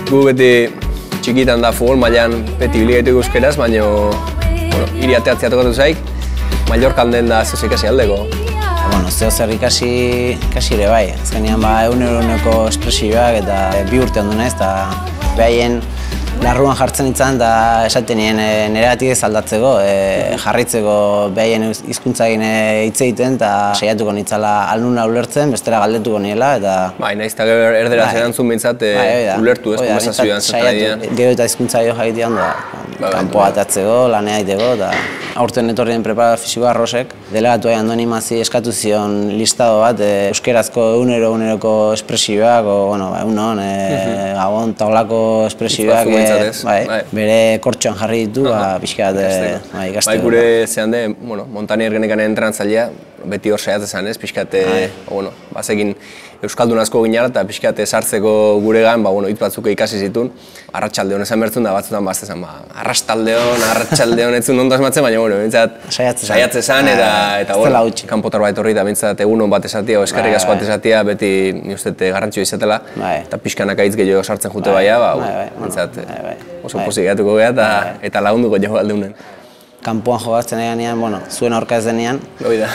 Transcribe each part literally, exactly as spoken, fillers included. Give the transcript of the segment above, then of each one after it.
gu beti txikitan da futbol mailan beti biligaitu euskeraz, baina bueno, hiri ateatzea tokatu zaik, Mallorcan den da zeu ikasi aldeko. Bueno, zeo zer ikasi, ikasi ere bai. Azkenean ba, egunero-eguneko espresioak eta bi urte ondu naiz, eta behaien larruan jartzen itzan eta esaten nien neregatik ez aldatzeko, e, jarraitzeko behaien hizkuntzagin hitz egiten eta saiatuko nitzala alnuna ulertzen, bestera galdetuko niela eta... Bai, nahiz eta erderaz erantzun bintzat ulertu ez, konversazioan zentadian. Gero eta hizkuntza jo jakitean da, kanpoa atatzeko, lanea egiteko eta aurten etorrien preparador fisikoa Rosek, delegatu egin Andoni Mazi eskatu zion listado bat, euskerazko egunero-eguneroko espresioak, o, bueno, egunon, gabon, taulako espresioak, bai, bere kortxoan jarri ditu, pixkat ikasteko. Bai, gure zehan de, bueno, Montanier genekan entrenatzailea, beti hor saiatzen zen, ez, pixkat, bueno, bazekin euskaldun asko ginara eta pixkat sartzeko guregan, ba, bueno, hitz batzuk ikasi zituen, arratsaldeon esan bertzun da batzutan bazte zen, ba, arrastaldeon, arratsaldeon etzun ondo asmatzen, baina, bueno, bintzat, saiatzen zen, eta, eta, bueno, kanpotar bat horri, eta bintzat egunon bat esatia, o eskerrik asko bat esatia, beti, ni uste, garrantzioa izatela, eta pixkanaka hitz gehiago sartzen jute baia, ba, bintzat, oso pozik gehatuko geha, eta lagunduko jo aldeunen. Kanpoan jogatzen eganean, bueno, zuen aurka ez denean. Hoi da.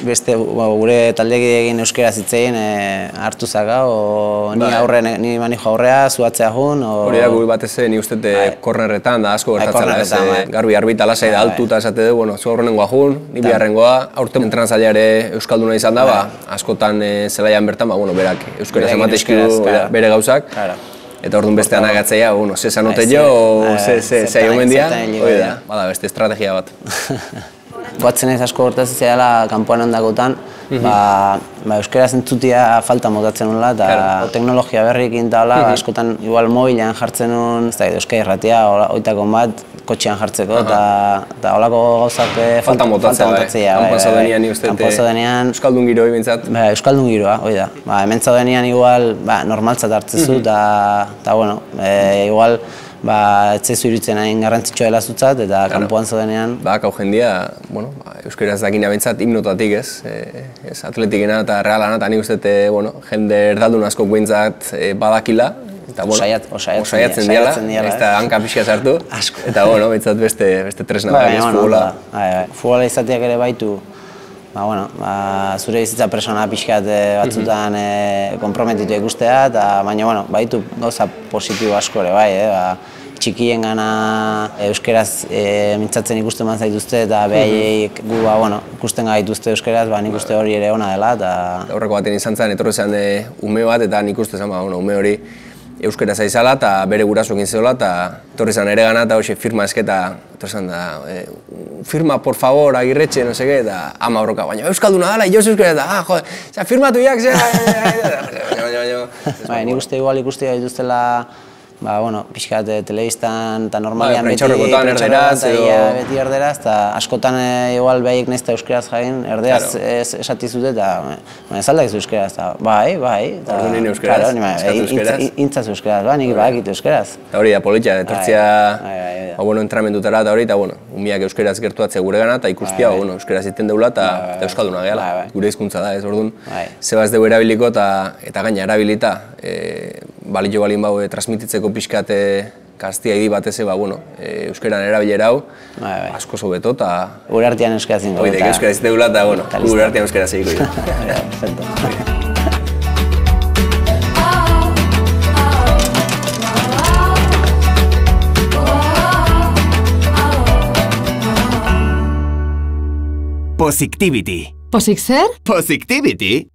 Beste, gure taldekideekin euskeraz hitzein hartu zaka, o ni aurre, ni manijo aurrea, zuatzea jun, o... Hori da, gure batez, ni uste kornerretan da asko gertatzela, ez, garbi arbita lasai da altuta esate du, bueno, zu aurrenengoa jun, ni biharrengoa, aurten entrenatzailea ere euskalduna izan da, ba, askotan zelaian bertan, ba, bueno, berak euskeraz ematezkidu bere gauzak. Eta orduan beste anagatzea, bueno, ze sanote jo, ze aio mendia, hori da, bada beste estrategia bat. Goatzen ez asko hortaz zehala kanpoan ondakotan, euskeraz entzutia falta motatzen nula, eta teknologia berrikin eta hola, askotan igual mobilean jartzen nun, ez da, Euskal Irratia, oitakon bat, kotxean jartzeko, eta holako gauzak falta motatzea. Kanpoan zaudenean, ni uste, euskaldun giroi bintzat? Euskaldun giroa, hori da. Hemen zaudenean igual normaltzat hartzezu, eta, bueno, igual, ez zaizu iruditzen hain garrantzitsua dela zutzat, eta kanpoan zaudenean... Ba, hau jendia, bueno, euskeraz dakina bintzat himnotatik ez, ez atletikena eta realana, eta nik uste, bueno, jende erdaldun asko bintzat badakila, eta, bueno, osaiatzen diala, ez da hanka pixka sartu, eta, bueno, bintzat beste tresna da, ez futbola. Futbola izateak ere baitu, ba, bueno, zure bizitza persona pixkat batzutan konprometitu ikustea, baina, bueno, baitu gauza positibo asko ere bai, txikien gana euskeraz mintzatzen ikusten bat zaituzte eta behaiek gu, bueno, ikusten gaituzte euskeraz, nik uste hori ere ona dela, eta... Horreko baten izan zen, etorri zen ume bat, eta nik uste zen, ume hori euskera zaizala eta bere gurasoekin zeola, eta etorri zen ere gana, eta hoxe firma esketa, etorri zen da, firma, por favor, Agirretxe, no seke, eta ama horroka, baina euskalduna dala, jo euskera, eta, ah, jode, zera, firmatu jak, zera, nik uste igual ikuste gaituztela, ba, bueno, pixkat telebistan eta normalian beti erderaz, beti erderaz, eta askotan igual behaiek nahizta euskeraz jain, erderaz esatizute eta ez aldakizu euskeraz, eta bai, bai, intzaz euskeraz, ba, nik bakit euskeraz. Eta hori da, politia, etortzia entramendutara eta hori, eta umiak euskeraz gertuatzea gure gana, eta ikustia, euskeraz iten deula eta euskalduna gehala, gure hizkuntza da, ez orduan, zebaz dugu erabiliko eta gaina erabilita, balio balin bau transmititzeko pixkat kastia idi batez, euskeran erabilera hau, asko sobeto eta... Gure artean euskaraz zinko. Oidek euskaraz zinko eta gure artean euskaraz zinko. Posictivity. Posik zer? Posictivity.